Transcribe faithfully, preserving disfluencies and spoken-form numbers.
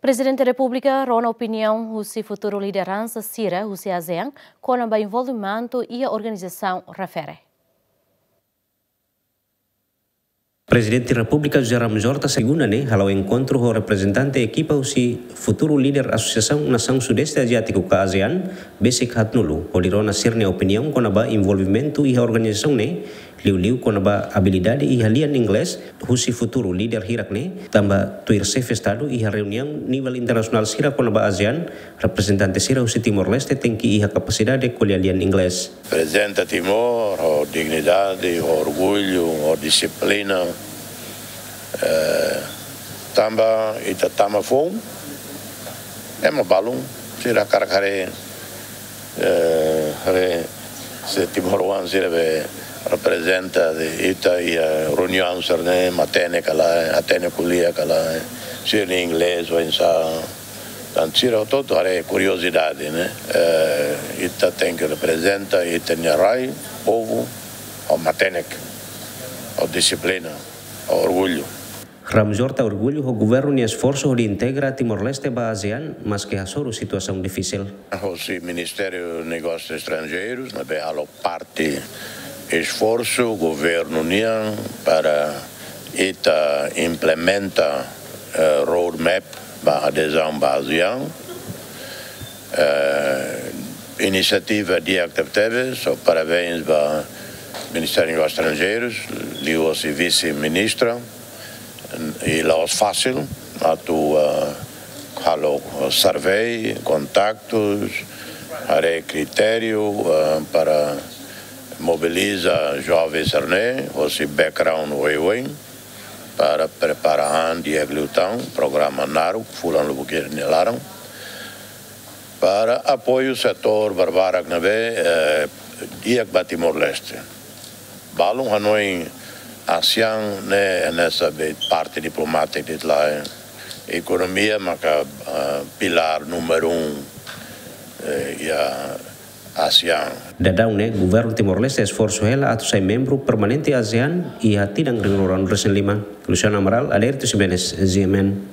Prezidente Repúblika rona opiniaun husi futuru lideransa sira husi ASEAN kona-ba envolvimentu iha organizasaun refere. Prezidente Repúblika José Ramos Horta segunda ne'e hala'o enkontru ho reprezentante ekipa husi futuru líder Asosiasaun Nasaun Sudeste Aziátiku ka ASEAN, besik haatnulu, hodi rona sira-nia opiniaun kona-ba envolvimentu iha organizasaun ne'e, liuliu kona-ba abilidade iha lian Inglés husi futuru líder hirak ne'e, tanba tuir xefe Estadu iha reuniaun nivel internasionál sira kona-ba ASEAN, reprezentante sira husi Timor-Leste tenke iha kapasidade ko'alia lian Inglés. Reprezenta Timor ho dignidade, ho orgullu, ho dixiplina. Eh, tanba ita tama foun, ema balun sira hakarak haree, eh, haree se timoroan sira be reprezenta ita iha reuniaun sira-ne'e, matenek ka lae, hatene ko'alia ka lae, sira-nia Inglés oinsá. Entaun sira hotu-hotu haree, kuriozidade, ne'e? Eh, ita tenke reprezenta ita-nia rai, povu, ho matenek, ho dixiplina, ho orgullu. Ramos Horta orgullu ho governu nia esforsu hodi integra Timor-Leste ba ASEAN, maske hasoru situasaun difisil. Hosi Ministériu Negósius Estranjeirus, ne'ebé halo parte esforsu governu nian para ita implementa, eh, roadmap ba adezaun ba ASEAN. Eh, inisiativa di'ak tebetebes, so parabéns ba Ministériu Negósius Estranjeirus, liuhosi vise-ministra, i la'ós fasil atu, eh, halo survey, kontaktus, haree kritériu, eh, para mobiliza joven sira-ne'e, hosi background oioin, para prepara an di'ak liután, programa naruk, fulan lubuk ida nia laran, para apoiu setór barbarak ne'ebé, eh, di'ak ba Timor-Leste. Balun hanoin ASEAN ne'e hanesan be parte diplomátika de'it lae. Ekonomia maka, eh, pilár númeru um, eh, iha ASEAN. Daudaun ne'e, governu Timor-Leste esforsu hela atu sai membru permanente ASEAN iha tinan rihun rua ruanulu-resin-lima. Luciano Amaral, Adérito Ximenes, G M N.